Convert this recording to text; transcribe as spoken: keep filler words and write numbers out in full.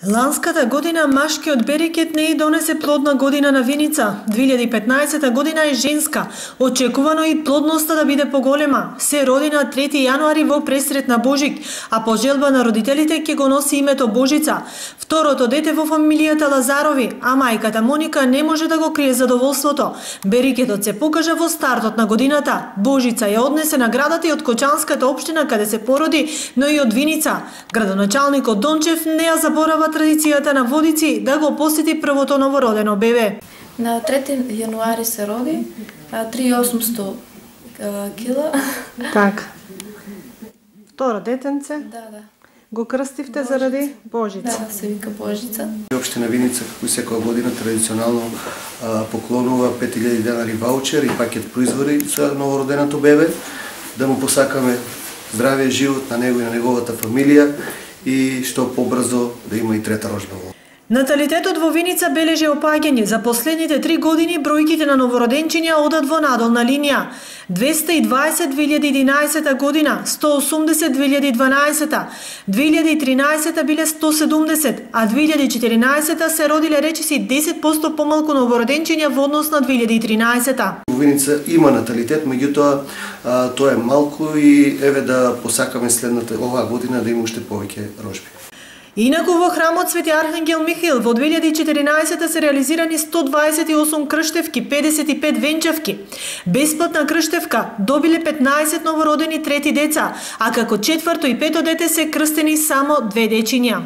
Ланската година машкиот берекет не и донесе плодна година на Виница. две илјади и петнаесета година е женска. Очекувано и плодноста да биде поголема. Се роди на трети јануари во пресрет на Божик, а по желба на родителите ќе го носи името Божица. Второто дете во фамилијата Лазарови, а мајката Моника не може да го крие задоволството. Берекетот се покажа во стартот на годината. Божица ја однесе наградата и од Кочанската општина каде се породи, но и од Виница. Градоначалникот Дончев не ја заборава традицијата на Водици да го посети првото новородено бебе. На трети јануари се роди, три тисучи и осумстотини кила. Така. Второ детенце? Да, да. Го крстивте заради Божица? Да, се вика Божица. Општина Виница, како и секоја година, традиционално поклонува пет илјади денари ваучер и пакет производи за новороденото бебе, да му посакаме здравје живот на него и на неговата фамилија и што побрзо да има и трета рожба. Наталитетот во Виница бележи опаѓање. За последните три години бројките на новороденчиња одат во надолна линија. двеста и дваесет две илјади и единаесета година, сто и осумдесет две илјади и дванаесета, две илјади и тринаесета биле сто и седумдесет, а две илјади и четиринаесета се родиле речиси десет посто помалку новороденчиња во однос на две илјади и тринаесета. Во Виница има наталитет, меѓутоа тоа е малку и еве да посакаме следната оваа година да има уште повеќе рожби. Инаку во храмот Свети Архангел Михаил во две илјади и четиринаесета се реализирани сто дваесет и осум крштевки, педесет и пет венчавки. Бесплатна крштевка добиле петнаесет новородени трети деца, а како четврто и пето дете се крстени само две дечиња.